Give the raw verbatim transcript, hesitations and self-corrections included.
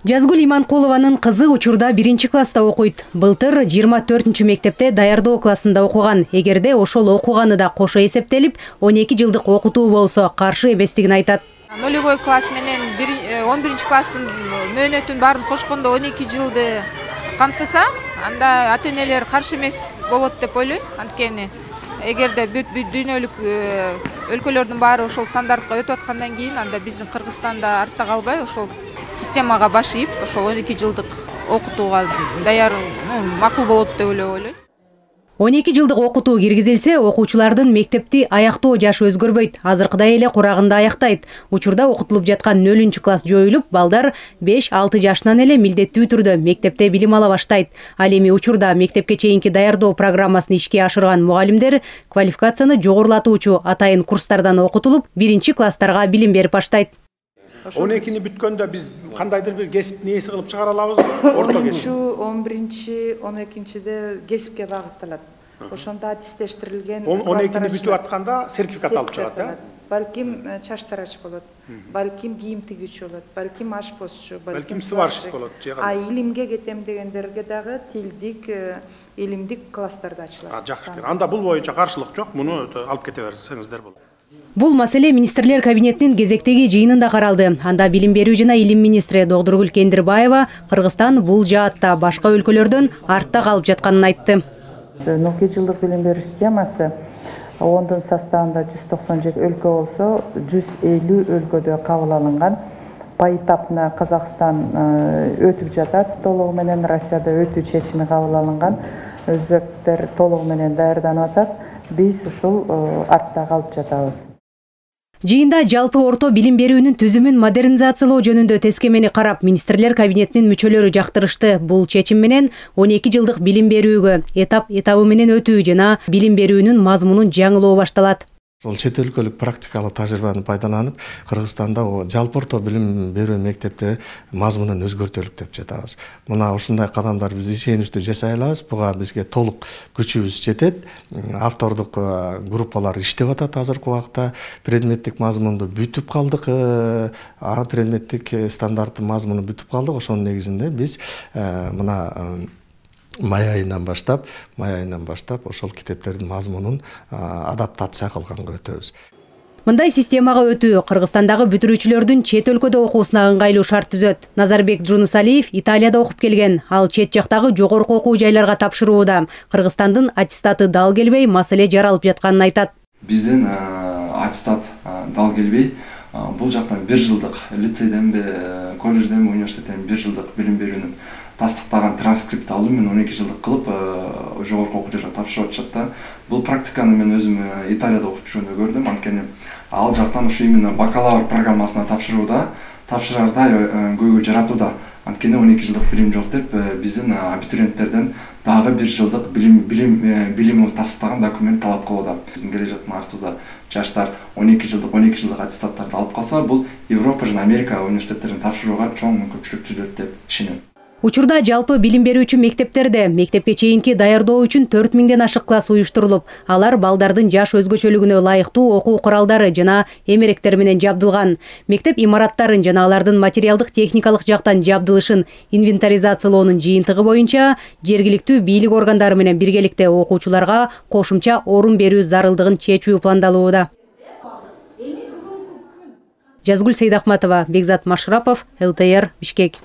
Жазгүл Иманкулованын кызы учурда биринчи класста окуйт. Былтыр жыйырма төртүнчү мектепте даярдоо классында окуган. Эгерде ошол окуганы да кошо эсептелип, он эки жылдык окутуу болсо каршы эместигин айтат. Нулевой класс менен он биринчи класстын мөөнөтүн баарын кошкондо он эки жылды камтыса, анда ата-энелер каршы эмес болот деп ойлойм. Анткени эгерде бүт дүйнөлүк өлкөлөрдүн баары ошол стандартка өтүп аткандан кийин, анда биздин Кыргызстанда артта калбай ошол системага баш ийип, ошол он эки жылдык окутууга даяр макул болот деп ойлойм. он эки жылдык окутуу киргизилсе, окуучулардын мектепти аяктоо жашы өзгөрбөйт. Азыркыдай эле курагында аяктайт. Учурда окутулуп жаткан нөлүнчү класс жоюлуп, балдар беш алты жашынан эле милдеттүү түрдө мектепте билим ала баштайт. Ал эми учурда мектепке чейинки даярдоо программасын ишке ашырган мугалимдер квалификацияны жогорулатуучу атайын курстардан окутулуп, биринчи класстарга билим берип баштайт. он экини бүткөндө биз кандайдыр бир кесип нээси кылып чыгара алабызбы? Орто кесип. он биринчи, он экинчиде кесипке багытталат. Ошондо аттестештирилген он экини бүтүп атканда сертификат алып чыгат, э? Балким чач тарач болот, балким кийим тигүүчү болот, балким ашпозчу, балким сварщик болот. А илимге кетем дегендерге дагы тилдик, илимдик класстарда ачылат. Жакшы. Анда бул боюнча каршылык жок, муну алып кете берсеңиздер болот. Бул маселе министрлер кабинетинин кезектеги жыйынында каралды. Анда билим берүү жана илим министри Догдургүл Кендирбаева Кыргызстан бул жаатта башка өлкөлөрдөн артта калып жатканын айтты. он эки жылдык билим берүү системасы ондун составында жүз токсон жети өлкө болсо, жүз элүү өлкөдө кабыл алынган. Поэтапно Казакстан өтүп жатат, толугу менен Россияда өтүү чечими кабыл алынган. Өзбектер толугу менен даярданып атат. Биз ушул артта калып жатабыз. Жыйында жалпы орто билим берүүнүн түзүмүн модернизациялоо жөнүндө тескемени карап, министрлер кабинетинин мүчөлөрү жактырышты. Бул чечим менен он эки жылдык билим берүүгө этап этабы менен өтүү жана билим берүүнүн мазмунун жаңылоо башталат. Ол чет өлкөлүк практикалык тажрыйбаны пайдаланып, Кыргызстанда жалпы орто билим берүү мектепте мазмунун өзгөртөлүк деп жатабыз. Мына ушундай кадамдар биз ишеничтүү жасай алабыз. Буга бизге толук күчүбүз жетет. Автордук группалар иштеп атат азыркы убакта. Предметтик мазмунду бүтүп калдык. А предметтик стандарттын мазмуну бүтүп калдык. Ошонун негизинде биз мына май айынан баштап, май айынан баштап ошол китептердин мазмунун адаптация кылганга өтөбүз. Мындай системага өтүү Кыргызстандагы бүтүрүүчүлөрдүн чет өлкөдө окуусуна ыңгайлуу шарт түзөт. Назарбек Жунусалиев Италияда окуп келген. Ал чет жактагы жогорку окуу жайларга тапшырууда. Кыргызстандын аттестаты дал келбей, маселе жаралып жатканын айтат. Биздин аттестат дал келбей, бул жактан бир жылдык лицейденби, колледжденби, университеттен бир жылдык билим берүүнүн тастыктаган транскрипт алуу менен он эки жылдык кылып жогорку окуу жайга тапшырып атышат да. Бул практиканы мен өзүм Италияда окуп жүргөндө көрдүм. Анткени ал жактан ушу именно бакалавр программасына тапшырууда, тапшырарда көйгөй жаратууда. Анткени он эки жылдык билим жок деп биздин абитуриенттерден дагы бир жылдык билим билим билим тастыктаган документ талап кылууда. Биздин келе жаткан артыбызда жаштар он эки жылдык он эки жылдык аттестаттарды алып калса, бул Европа жана Америка университеттерин тапшырууга чоң мүмкүнчүлүк түзөт деп ишенем. Учурда жалпы билим берүүчү мектептерде мектепке чейинки даярдоо үчүн төрт миңден ашык класс уюштурулуп, алар балдардын жаш өзгөчөлүгүнө ылайыктуу окуу куралдары жана эмеректер менен жабдылган. Мектеп имараттарын жана алардын материалдык техникалык жактан жабдылышын инвентаризациялоонун жыйынтыгы боюнча жергиликтүү бийлик органдары менен биргеликте окуучуларга кошумча орун берүү зарылдыгын чечүү пландалууда. Жазгүл Сейдахматова, Бекзат Машрапов, эл тэ эр, Бишкек.